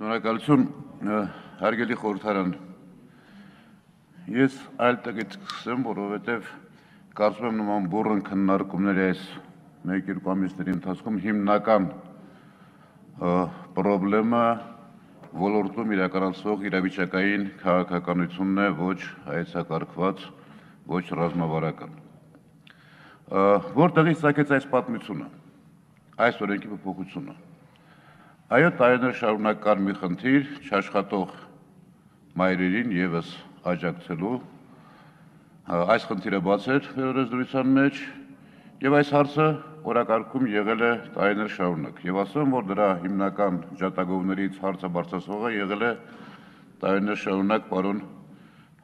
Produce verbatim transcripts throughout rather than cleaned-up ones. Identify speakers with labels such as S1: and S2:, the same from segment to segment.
S1: Շնորհակալություն, հարգելի խորհրդարան։ Ես այլ տղից կսեմ, որովհետև կարծում եմ նման բուռն քննարկումների այս մեկ-երկու ամիսների ընթացքում հիմնական պրոբլեմը ոլորտում իրականացվող իրավիճակային քաղաքականությունն է, ոչ հայեցակարգված, ոչ ռազմավարական։ Որտեղից ծագեց այս պատմությունը, այս օրենքի փոփոխությունը։ Այո, տարիներ շարունակ կար մի խնդիր չաշխատող մայրերին ևս աջակցելու, այս խնդիրը բաց էր վերորեզրույցան մեջ եւ այս հարցը օրակարգում եղել է տարիներ շարունակ եւ ասեմ, որ դրա հիմնական ջատագովներից հարցը բարձրացողը եղել է տարիներ շարունակ պարոն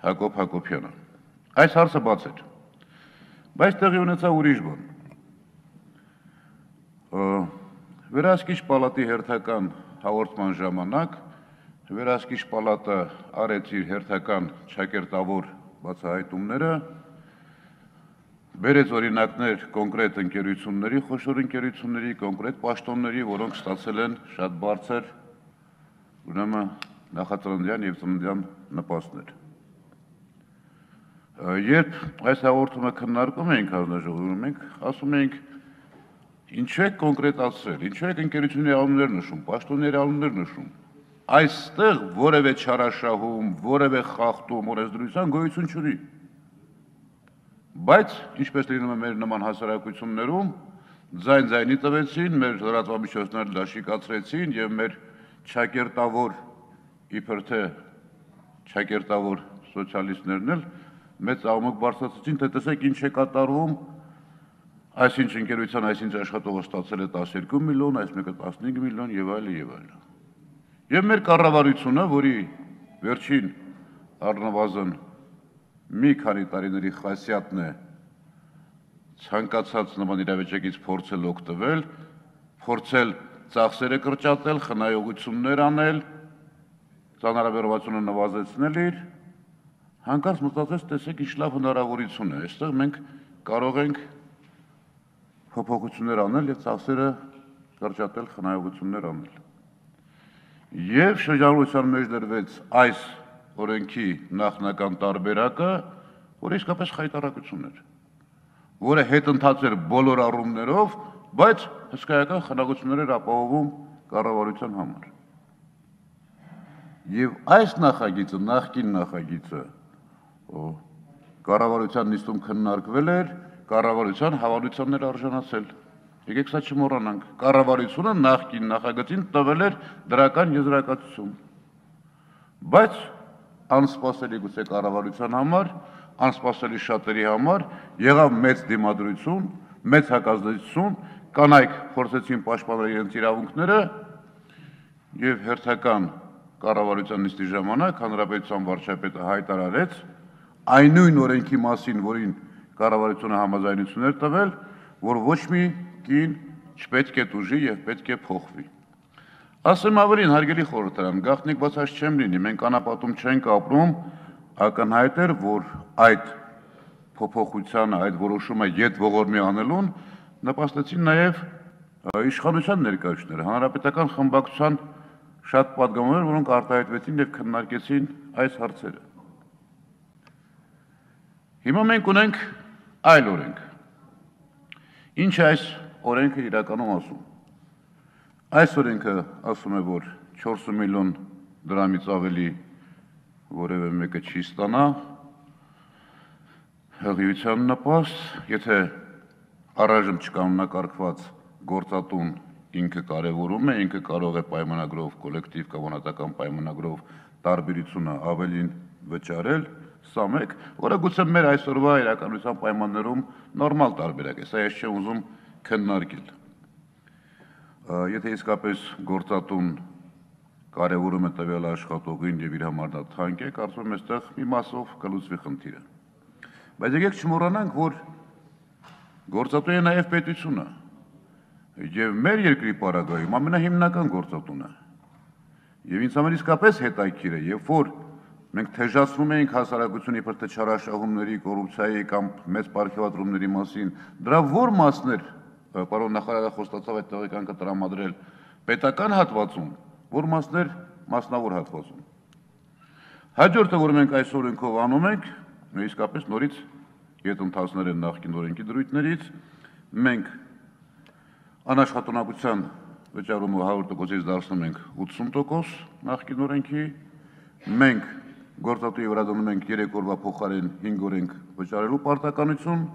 S1: Հակոբ Հակոբյանը։ Այս հարցը բաց էր, բայց տեղի ունեցավ ուրիշ բան։ Վերահսկիչ պալատի հերթական հաղորդման ժամանակ Վերահսկիչ պալատը արեց իր հերթական ճակերտավոր բացահայտումները, բերեց օրինակներ կոնկրետ ընկերությունների, խոշոր ընկերությունների, կոնկրետ պաշտոնների, որոնք ստացել են շատ բարձր ուրեմն նախածննդյան եւ ծննդյան նպաստներ։ Երբ այս հաղորդումը քննարկում էինք հանձնաժողովում, մենք ասում էինք ինչու եք կոնկրետացրել, ինչու եք ընկերությունների անուններ նշում, պաշտոնների անուններ նշում։ Այստեղ որևէ չարաշահում, որևէ խախտում օրենսդրության գոյություն չունի։ Բայց ինչպես լինում է մեր նման հասարակություններում, ձայն ձայնի տվեցին, մեր լրատվամիջոցները դաշիկացրեցին եւ մեր ճակերտավոր իբր թե ճակերտավոր սոցիալիստներն էլ մեծ աղմուկ բարձրացրեցին, թե տեսեք ինչ է կատարվում, այսինչ ընկերության այսինչ աշխատողը ստացել է տասներկու միլիոն, այս մեկը տասնհինգ միլիոն եւ այլն եւ այլն։ Եվ մեր կառավարությունը, որի վերջին առնվազն մի քանի տարիների խասյատն է ցանկացած նման իրավիճակից փորձել օգտվել, փորձել ծախսերը կրճատել, խնայողություններ անել, ծանրաբեռնվածությունը նվազեցնել իր, հանկարծ մտածեց, տեսեք ինչ լավ հնարավորություն է, այստեղ մենք կարող ենք փոփոխություններ անել եւ ծախսերը կրճատել, խնայողություններ անել։ Եվ շրջանառության մեջ դրվեց այս օրենքի նախնական տարբերակը, որը իսկապես խայտառակություն էր, որը հետընթաց էր բոլոր առումներով, բայց հսկայական խնայողություններ էր ապահովում կառավարության համար։ Եվ այս նախագիծը, նախկին նախագիծը, կառավարության նիստում քննարկվել էր, կառավարության հավանությանն էր արժանացել։ Եկեք սա չմոռանանք, կառավարությունը նախկին նախագծին տվել էր դրական եզրակացություն։ Բայց անսպասելի գուցե կառավարության համար, անսպասելի շատերի համար եղավ մեծ դիմադրություն, մեծ հակազդեցություն, կանայք փորձեցին պաշտպանել իրենց իրավունքները եւ հերթական կառավարության նիստի ժամանակ հանրապետության վարչապետը հայտարարեց այն նույն օրենքի մասին, որին կառավարությունը համաձայնություն էր տվել, որ ոչ մի կին չպետք է տուժի եւ պետք է փոխվի։ Ասեմ ավելին, հարգելի խորհրդարան, գաղտնիք բացած չեմ լինի, մենք անապատում չենք ապրում, ակնհայտ էր, որ այդ փոփոխությանը, այդ որոշումը յետ ողորմի անելուն նպաստեցին նաեւ իշխանության ներկայացուցիչները, հանրապետական խմբակցության շատ պատգամներ, որոնք արտահայտվեցին եւ քննարկեցին այս հարցերը։ Հիմա մենք ունենք այլ օրենք։ Ինչ է այս օրենքը իրականում ասում։ Այս օրենքը ասում է, որ չորս միլիոն դրամից ավելի որևէ մեկը չի ստանա հղիության նպաստ, եթե առայժմ չկանոնակարգված գործատուն ինքը կարևորում է, ինքը կարող է պայմանագրով, կոլեկտիվ կամ անհատական պայմանագրով տարբերությունը ավելին վճարել, սա մեկ, որը գուցե մեր այսօրվա իրականության պայմաններում նորմալ տարբերակ է, սա ես չեմ ուզում քննարկել։ Եթե իսկապես գործատուն կարևորում է տվյալ աշխատողին եւ իր համար դա թանկ է, կարծում եմ այստեղ մի մասով կլուծվի խնդիրը։ Բայց եկեք չմոռանանք, որ գործատու է նաեւ պետությունը եւ մեր երկրի պարագայում ամենահիմնական գործատուն է։ Եվ ինձ համար իսկապես հետաքրքիր է, երբ որ մենք թեժացնում էինք հասարակությունը իբր թե չարաշահումների, կոռուպցիայի կամ մեծ պարգևատրումների մասին, դրա որ մասներ, պարոն նախարարը խոստացավ այդ տեղեկանքը տրամադրել պետական հատվածում, որ մասներ մասնավոր հատվածում։ Հաջորդը, որ մենք այս օրենքով անում ենք, իսկապես նորից գետնթացներ են նախկին օրենքի դրույթներից, մենք անաշխատունակության վճարումը հարյուր տոկոսից դարձնում ենք ութսուն տոկոս նախկին օրենքի, մենք գործատուի վրա դնում ենք երեք օրվա փոխարեն հինգ օր ենք վճարելու պարտականություն,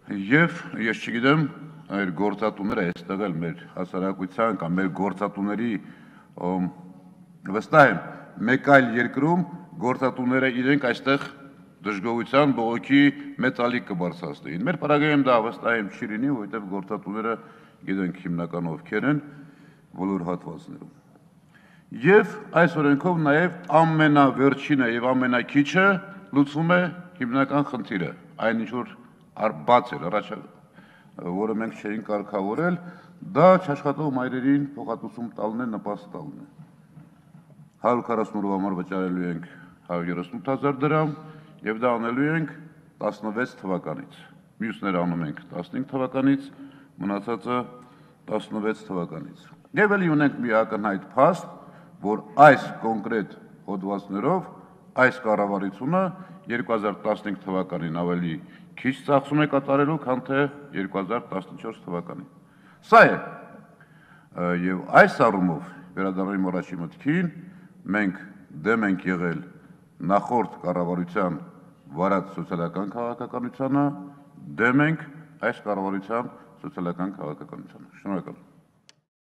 S1: եւ ես չգիտեմ, այլ գործատուները այստեղ էլ մեր հասարակության կամ մեր գործատուների վստահ եմ, մեկ այլ երկրում գործատուները իրենք այստեղ դժգոհության բողոքի մեծ ալիք կբարձրացնեին։ Մեր պարագայում դա վստահ եմ չի լինի, որովհետև գործատուները գիտենք հիմնական ովքեր են բոլոր հատվածներում։ Եվ այս օրենքով նաև ամենավերջինը եւ ամենակիչը լուծվում է հիմնական խնդիրը, այն ինչ որ բաց էր առաջ, որը մենք չէինք կարգավորել, դա չաշխատող մայրերին փոխհատուցում տալն է, նպաստ տալն է։ հարյուր քառասուն օրվա համար վճարելու ենք հարյուր երեսունութ հազար դրամ եւ դա անելու ենք տասնվեց թվականից։ Մյուսները անում ենք տասնհինգ թվականից, մնացածը տասնվեց թվականից։ Եվ ելի ունենք մի ակնհայտ փաստ, որ այս կոնկրետ հոդվածներով այս կառավարությունը երկու հազար տասնհինգ թվականին ավելի քիչ ծախսում է կատարելու, քան թե երկու հազար տասնչորս թվականին։ Սա է, եւ այս առումով վերադառնում առաջի մտքին, մենք դեմ ենք եղել նախորդ կառավարության վարած սոցիալական քաղաքականությանը, դեմ ենք այս կառավարության սոցիալական քաղաքականությանը։ Շնորհակալ եմ։